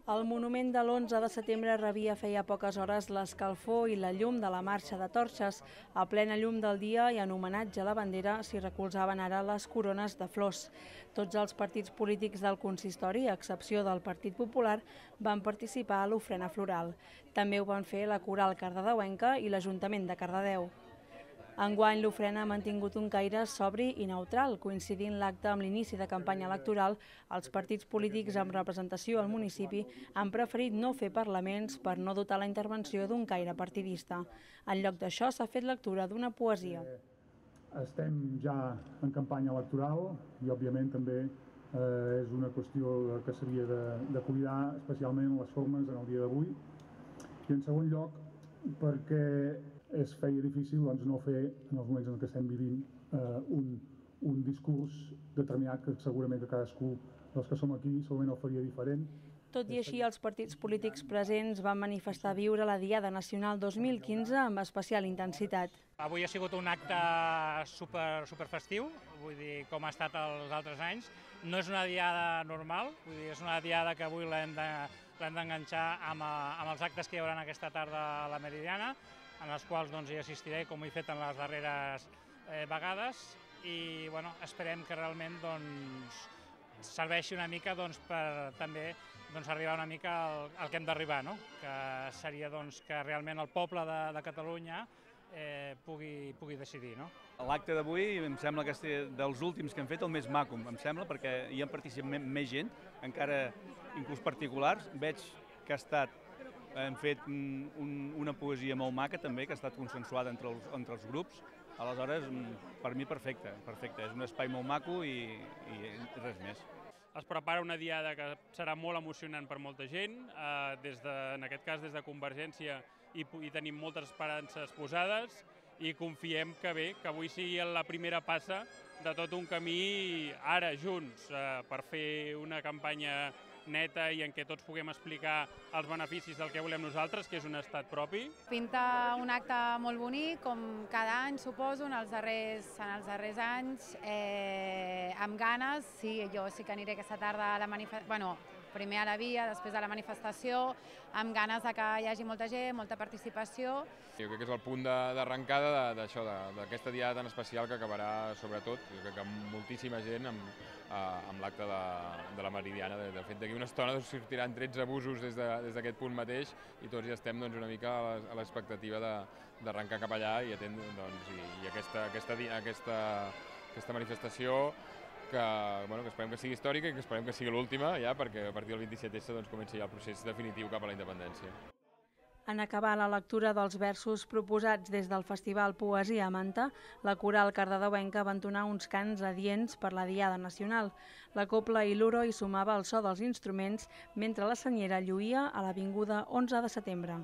El monument de l'11 de setembre rebia feia poques hores l'escalfor i la llum de la marxa de torxes. A plena llum del dia i en homenatge a la bandera s'hi recolzaven ara les corones de flors. Tots els partits polítics del consistori, a excepció del Partit Popular, van participar a l'ofrena floral. També ho van fer la Coral Cardedeuenca i l'Ajuntament de Cardedeu. Enguany, l'ofrena ha mantingut un caire sobri i neutral. Coincidint l'acte amb l'inici de campanya electoral, els partits polítics amb representació al municipi han preferit no fer parlaments per no dotar la intervenció d'un caire partidista. En lloc d'això, s'ha fet lectura d'una poesia. Estem ja en campanya electoral i, òbviament, també és una qüestió que s'havia de cuidar, especialment les formes en el dia d'avui. I, en segon lloc, perquè es feia difícil no fer, en els moments en què estem vivint, un discurs determinat que segurament que cadascú dels que som aquí segurament el faria diferent. Tot i així, els partits polítics presents van manifestar viure la Diada Nacional 2015 amb especial intensitat. Avui ha sigut un acte super festiu, vull dir, com ha estat els altres anys. No és una diada normal, vull dir, és una diada que avui l'hem d'enganxar amb els actes que hi haurà aquesta tarda a la Meridiana, en els quals hi assistiré, com ho he fet en les darreres vegades, i esperem que realment serveixi una mica per també arribar una mica al que hem d'arribar, que seria que realment el poble de Catalunya pugui decidir. L'acte d'avui em sembla que és dels últims que hem fet el més maco, em sembla, perquè hi ha participat més gent, encara inclús particulars. Veig que hem fet una poesia molt maca també, que ha estat consensuada entre els grups. Aleshores, per mi perfecte, és un espai molt maco i res més. Es prepara una diada que serà molt emocionant per molta gent, en aquest cas des de Convergència i tenim moltes esperances posades i confiem que avui sigui la primera passa de tot un camí ara junts per fer una campanya neta i en què tots puguem explicar els beneficis del que volem nosaltres, que és un estat propi. Pinta un acte molt bonic, com cada any, suposo, en els darrers anys, amb ganes. Sí, jo sí que aniré aquesta tarda a la manifestació, primer a la via, després a la manifestació, amb ganes que hi hagi molta gent, molta participació. Jo crec que és el punt d'arrencada d'aquesta diada tan especial que acabarà, sobretot, jo crec que amb moltíssima gent amb l'acte de la Meridiana. De fet, d'aquí una estona sortiran 13 busos des d'aquest punt mateix i tots ja estem una mica a l'expectativa d'arrencar cap allà i aquesta manifestació que esperem que sigui històrica i que esperem que sigui l'última ja, perquè a partir del 27S comença ja el procés definitiu cap a la independència. En acabar la lectura dels versos proposats des del Festival Poesia a Manta, la Coral Cardedeuenca va entonar uns cants adients per la Diada Nacional. La copla i l'uro hi sumava el so dels instruments mentre la senyera lluïa a l'avinguda 11 de setembre.